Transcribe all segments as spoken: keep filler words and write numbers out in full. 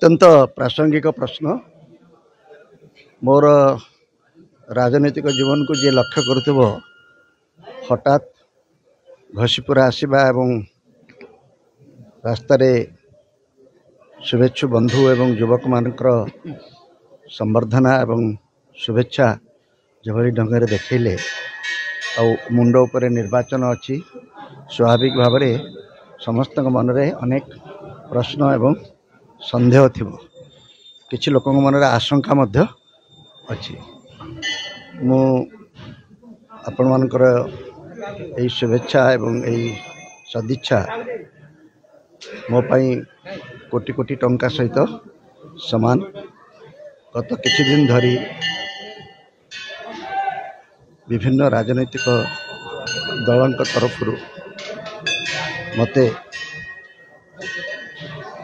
ଅତ୍ୟନ୍ତ ପ୍ରାସଙ୍ଗିକ ପ୍ରଶ୍ନ। ମୋର ରାଜନୈତିକ ଜୀବନକୁ ଯିଏ ଲକ୍ଷ୍ୟ କରୁଥିବ, ହଠାତ୍ ଘସିପୁରା ଆସିବା ଏବଂ ରାସ୍ତାରେ ଶୁଭେଚ୍ଛୁ ବନ୍ଧୁ ଏବଂ ଯୁବକମାନଙ୍କର ସମ୍ବର୍ଦ୍ଧନା ଏବଂ ଶୁଭେଚ୍ଛା ଯେଭଳି ଢଙ୍ଗରେ ଦେଖେଇଲେ, ଆଉ ମୁଣ୍ଡ ଉପରେ ନିର୍ବାଚନ ଅଛି, ସ୍ୱାଭାବିକ ଭାବରେ ସମସ୍ତଙ୍କ ମନରେ ଅନେକ ପ୍ରଶ୍ନ ଏବଂ ସନ୍ଦେହ ଥିବ, କିଛି ଲୋକଙ୍କ ମନରେ ଆଶଙ୍କା ମଧ୍ୟ ଅଛି। ମୁଁ ଆପଣମାନଙ୍କର ଏହି ଶୁଭେଚ୍ଛା ଏବଂ ଏହି ସଦିଚ୍ଛା ମୋ ପାଇଁ କୋଟି କୋଟି ଟଙ୍କା ସହିତ ସମାନ। ଗତ କିଛି ଦିନ ଧରି ବିଭିନ୍ନ ରାଜନୈତିକ ଦଳଙ୍କ ତରଫରୁ ମୋତେ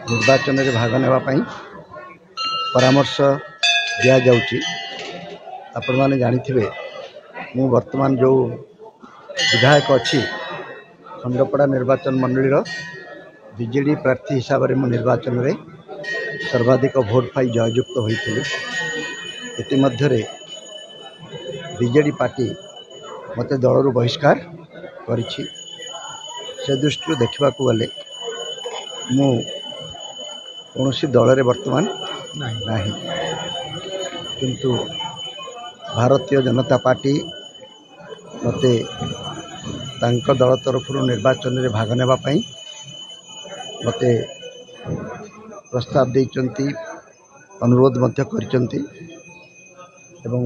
ନିର୍ବାଚନରେ ଭାଗ ନେବା ପାଇଁ ପରାମର୍ଶ ଦିଆଯାଉଛି। ଆପଣମାନେ ଜାଣିଥିବେ, ମୁଁ ବର୍ତ୍ତମାନ ଯେଉଁ ବିଧାୟକ ଅଛି, ଖଣ୍ଡପଡ଼ା ନିର୍ବାଚନ ମଣ୍ଡଳୀର ବିଜେଡ଼ି ପ୍ରାର୍ଥୀ ହିସାବରେ ମୁଁ ନିର୍ବାଚନରେ ସର୍ବାଧିକ ଭୋଟ ପାଇ ଜୟଯୁକ୍ତ ହୋଇଥିଲି। ଇତିମଧ୍ୟରେ ବିଜେଡ଼ି ପାର୍ଟି ମୋତେ ଦଳରୁ ବହିଷ୍କାର କରିଛି। ସେ ଦୃଷ୍ଟିରୁ ଦେଖିବାକୁ ଗଲେ ମୁଁ କୌଣସି ଦଳରେ ବର୍ତ୍ତମାନ ନାହିଁ, କିନ୍ତୁ ଭାରତୀୟ ଜନତା ପାର୍ଟି ମୋତେ ତାଙ୍କ ଦଳ ତରଫରୁ ନିର୍ବାଚନରେ ଭାଗ ନେବା ପାଇଁ ମୋତେ ପ୍ରସ୍ତାବ ଦେଇଛନ୍ତି, ଅନୁରୋଧ ମଧ୍ୟ କରିଛନ୍ତି। ଏବଂ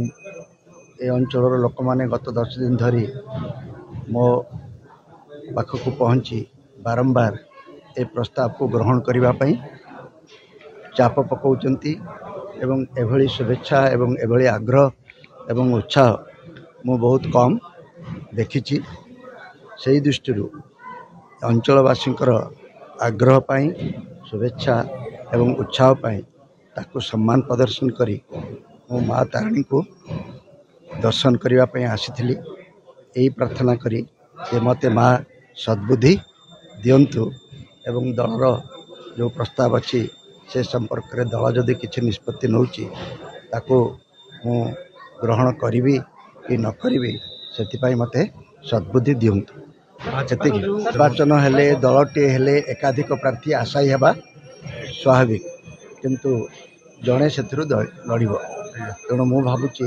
ଏ ଅଞ୍ଚଳର ଲୋକମାନେ ଗତ ଦଶ ଦିନ ଧରି ମୋ ପାଖକୁ ପହଞ୍ଚି ବାରମ୍ବାର ଏ ପ୍ରସ୍ତାବକୁ ଗ୍ରହଣ କରିବା ପାଇଁ ଚାପ ପକାଉଛନ୍ତି। ଏବଂ ଏଭଳି ଶୁଭେଚ୍ଛା ଏବଂ ଏଭଳି ଆଗ୍ରହ ଏବଂ ଉତ୍ସାହ ମୁଁ ବହୁତ କମ୍ ଦେଖିଛି। ସେଇ ଦୃଷ୍ଟିରୁ ଅଞ୍ଚଳବାସୀଙ୍କର ଆଗ୍ରହ ପାଇଁ, ଶୁଭେଚ୍ଛା ଏବଂ ଉତ୍ସାହ ପାଇଁ ତାକୁ ସମ୍ମାନ ପ୍ରଦର୍ଶନ କରି ମୁଁ ମା ତାରିଣୀଙ୍କୁ ଦର୍ଶନ କରିବା ପାଇଁ ଆସିଥିଲି, ଏହି ପ୍ରାର୍ଥନା କରି ଯେ ମୋତେ ମା ସଦ୍ବୁଦ୍ଧି ଦିଅନ୍ତୁ ଏବଂ ଦଳର ଯେଉଁ ପ୍ରସ୍ତାବ ଅଛି ସେ ସମ୍ପର୍କରେ ଦଳ ଯଦି କିଛି ନିଷ୍ପତ୍ତି ନେଉଛି ତାକୁ ମୁଁ ଗ୍ରହଣ କରିବି କି ନ କରିବି, ସେଥିପାଇଁ ମୋତେ ସଦ୍ବୁଦ୍ଧି ଦିଅନ୍ତୁ। ସେତିକି। ନିର୍ବାଚନ ହେଲେ, ଦଳଟିଏ ହେଲେ ଏକାଧିକ ପ୍ରାର୍ଥୀ ଆଶାୟୀ ହେବା ସ୍ୱାଭାବିକ, କିନ୍ତୁ ଜଣେ ସେଥିରୁ ଲଢ଼ିବ। ତେଣୁ ମୁଁ ଭାବୁଛି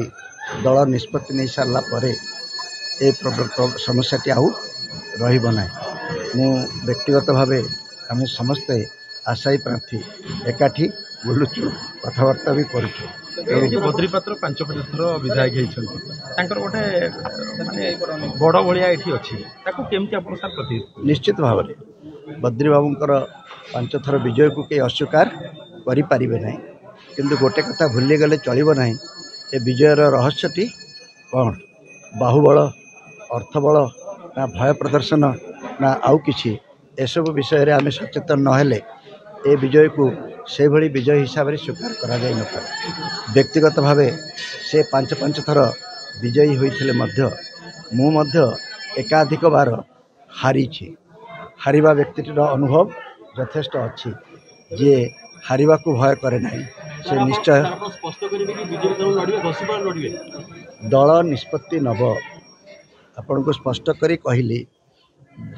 ଦଳ ନିଷ୍ପତ୍ତି ନେଇ ସାରିଲା ପରେ ଏ ସମସ୍ୟାଟି ଆଉ ରହିବ ନାହିଁ। ମୁଁ ବ୍ୟକ୍ତିଗତ ଭାବେ ଆମେ ସମସ୍ତେ ଆଶାୟୀ ପ୍ରାର୍ଥୀ ଏକାଠି ବୁଲୁଛୁ, କଥାବାର୍ତ୍ତା ବି କରୁଛୁ। ବଦ୍ରି ପାତ୍ର ପାଞ୍ଚ ପାଞ୍ଚ ଥର ବିଧାୟକ ହେଇଛନ୍ତି, ତାଙ୍କର ଗୋଟେ ମାନେ ବଡ଼ ଭଳିଆ ଏଠି ଅଛି, ତାକୁ କେମିତି ଆପଣ ସାର୍ ପ୍ରତି? ନିଶ୍ଚିତ ଭାବରେ ବଦ୍ରି ବାବୁଙ୍କର ପାଞ୍ଚ ଥର ବିଜୟକୁ କେହି ଅସ୍ୱୀକାର କରିପାରିବେ ନାହିଁ, କିନ୍ତୁ ଗୋଟେ କଥା ଭୁଲିଗଲେ ଚଳିବ ନାହିଁ, ଏ ବିଜୟର ରହସ୍ୟଟି କ'ଣ? ବାହୁବଳ, ଅର୍ଥବଳ ନା ଭୟ ପ୍ରଦର୍ଶନ ନା ଆଉ କିଛି? ଏସବୁ ବିଷୟରେ ଆମେ ସଚେତନ ନହେଲେ ଏ ବିଜୟକୁ ସେଭଳି ବିଜୟ ହିସାବରେ ସ୍ୱୀକାର କରାଯାଇନପାରେ। ବ୍ୟକ୍ତିଗତ ଭାବେ ସେ ପାଞ୍ଚ ପାଞ୍ଚ ଥର ବିଜୟୀ ହୋଇଥିଲେ ମଧ୍ୟ ମୁଁ ମଧ୍ୟ ଏକାଧିକ ବାର ହାରିଛି। ହାରିବା ବ୍ୟକ୍ତିଟିର ଅନୁଭବ ଯଥେଷ୍ଟ ଅଛି। ଯିଏ ହାରିବାକୁ ଭୟ କରେ ନାହିଁ ସେ ନିଶ୍ଚୟ ଦଳ ନିଷ୍ପତ୍ତି ନେବ। ଆପଣଙ୍କୁ ସ୍ପଷ୍ଟ କରି କହିଲି,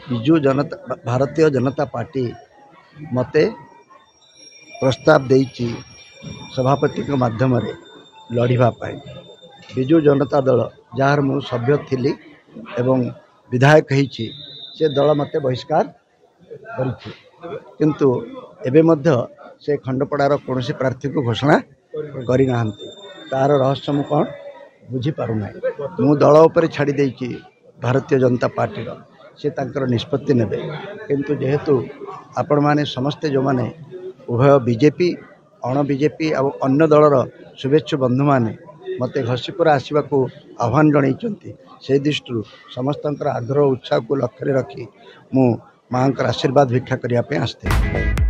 ବିଜୁ ଜନତା ଭାରତୀୟ ଜନତା ପାର୍ଟି ମୋତେ ପ୍ରସ୍ତାବ ଦେଇଛି ସଭାପତିଙ୍କ ମାଧ୍ୟମରେ ଲଢ଼ିବା ପାଇଁ। ବିଜୁ ଜନତା ଦଳ, ଯାହାର ମୁଁ ସଭ୍ୟ ଥିଲି ଏବଂ ବିଧାୟକ ହେଇଛି, ସେ ଦଳ ମୋତେ ବହିଷ୍କାର କରିଛି, କିନ୍ତୁ ଏବେ ମଧ୍ୟ ସେ ଖଣ୍ଡପଡ଼ାର କୌଣସି ପ୍ରାର୍ଥୀକୁ ଘୋଷଣା କରିନାହାନ୍ତି। ତା'ର ରହସ୍ୟ ମୁଁ କ'ଣ ବୁଝିପାରୁନାହିଁ। ମୁଁ ଦଳ ଉପରେ ଛାଡ଼ି ଦେଇଛି, ଭାରତୀୟ ଜନତା ପାର୍ଟିର ସେ ତାଙ୍କର ନିଷ୍ପତ୍ତି ନେବେ। କିନ୍ତୁ ଯେହେତୁ ଆପଣମାନେ ସମସ୍ତେ ଯେଉଁମାନେ ଉଭୟ ବିଜେପି, ଅଣ ବିଜେପି ଆଉ ଅନ୍ୟ ଦଳର ଶୁଭେଚ୍ଛୁ ବନ୍ଧୁମାନେ ମୋତେ ଘସିପୁରା ଆସିବାକୁ ଆହ୍ୱାନ ଜଣାଇଛନ୍ତି, ସେଇ ଦୃଷ୍ଟିରୁ ସମସ୍ତଙ୍କର ଆଗ୍ରହ ଉତ୍ସାହକୁ ଲକ୍ଷ୍ୟରେ ରଖି ମୁଁ ମାଆଙ୍କର ଆଶୀର୍ବାଦ ଭିକ୍ଷା କରିବା ପାଇଁ ଆସିଥିଲି।